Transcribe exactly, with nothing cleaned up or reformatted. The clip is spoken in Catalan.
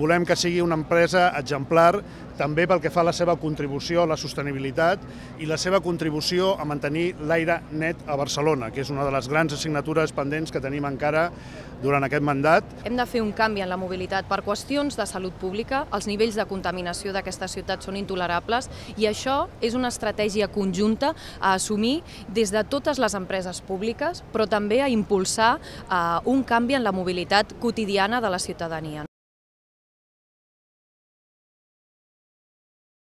Volem que sigui una empresa exemplar també pel que fa a la seva contribució a la sostenibilitat i la seva contribució a mantenir l'aire net a Barcelona, que és una de les grans assignatures pendents que tenim encara durant aquest mandat. Hem de fer un canvi en la mobilitat per qüestions de salut pública. Els nivells de contaminació d'aquesta ciutat són intolerables i això és una estratègia conjunta a assumir des de totes les empreses públiques, però també a impulsar un canvi en la mobilitat quotidiana de la ciutadania.